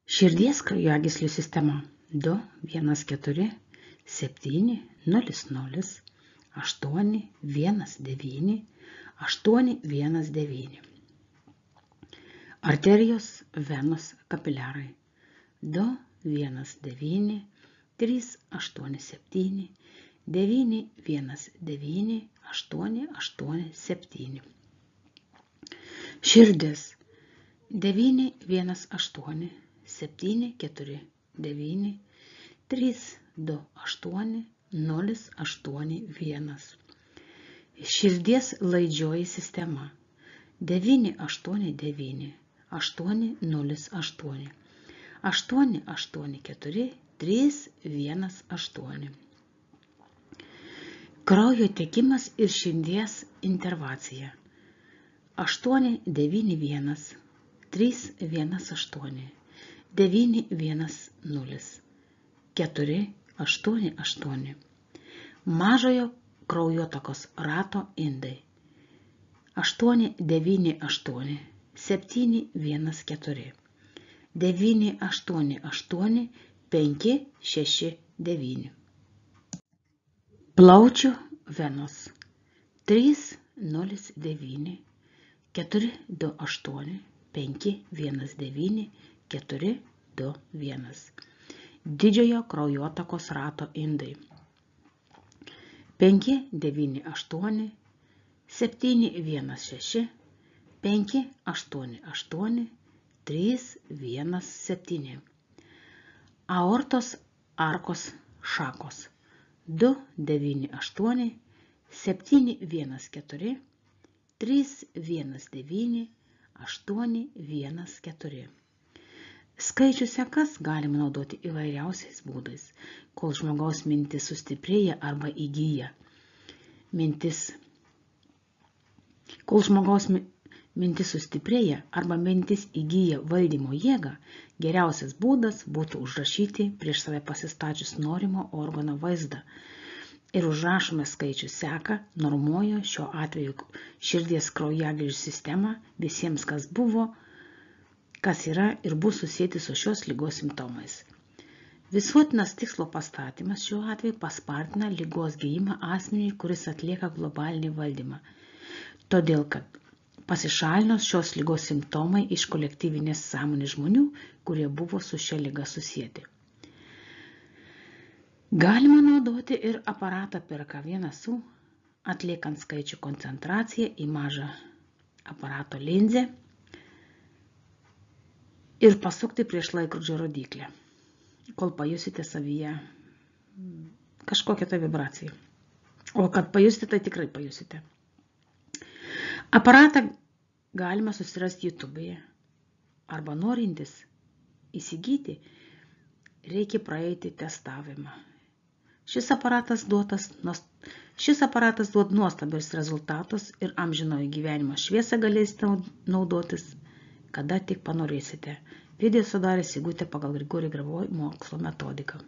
Širdies kraujagyslių sistema 2, 1, 4, 7, 0, 0, 8, 1, 9, 8, 1, 9. Arterijos, venos, kapiliarai 2, 1, 9, 3, 8, 7, 9, 1, 9, 8, 8, 7. Širdis 9, 1, 8, 7, 4, 9, 3, 2, 8, 0, 8, 1. Širdies laidžioji sistema 9, 8, 9, 8, 0, 8, 8, 8, 4, 3, 1, 8. Kraujo tekimas ir širdies intervacija 8, 9, 1, 3, 1, 8, 9, 1, 0, 4, 8, 8. Mažojo kraujotakos rato indai 8, 9, 8, 7, 1, 4, 9, 8, 8, 5, 6, 9. Plaučių venos 3, 0, 9, 4, 2, 8, 5, 1, 9, 4, 2, 1. Didžiojo kraujotakos rato indai 5, 9, 8, 7, 1, 6, 5, 8, 8, 3, 1, 7. Aortos arkos šakos 2, 9, 8, 7, 1, 4, 3, 1, 9, 8, 1, 4. Skaičių sekas galima naudoti įvairiausiais būdais, kol žmogaus mintis sustiprėja arba įgyja. Kol žmogaus mintis sustiprėja arba mintis įgyja valdymo jėgą, geriausias būdas būtų užrašyti prieš save pasistačius norimo organo vaizdą ir užrašome skaičių seką, normuoja šiuo atveju širdies kraujagyslių sistemą visiems, kas buvo, kas yra ir bus susijęti su šios ligos simptomais. Visuotinas tikslo pastatymas šiuo atveju paspartina ligos gijimą asmeniui, kuris atlieka globalinį valdymą, todėl kad pasišalinus šios ligos simptomai iš kolektyvinės sąmonės žmonių, kurie buvo su šia liga susijęti. Galima naudoti ir aparatą PRK1SU, atliekant skaičių koncentraciją į mažą aparato linzę ir pasukti prieš laikrodžio rodyklę, kol pajusite savyje kažkokią tą vibraciją. O kad pajusite, tai tikrai pajusite. Aparatą galima susirasti YouTube'e arba norintis įsigyti, reikia praeiti testavimą. Šis aparatas duod nuostabius rezultatus ir amžinojo gyvenimo šviesą galėsite naudotis, kada tik panorėsite. Video sudarė Sigutė pagal Grigorij Grabovoi mokslo metodiką.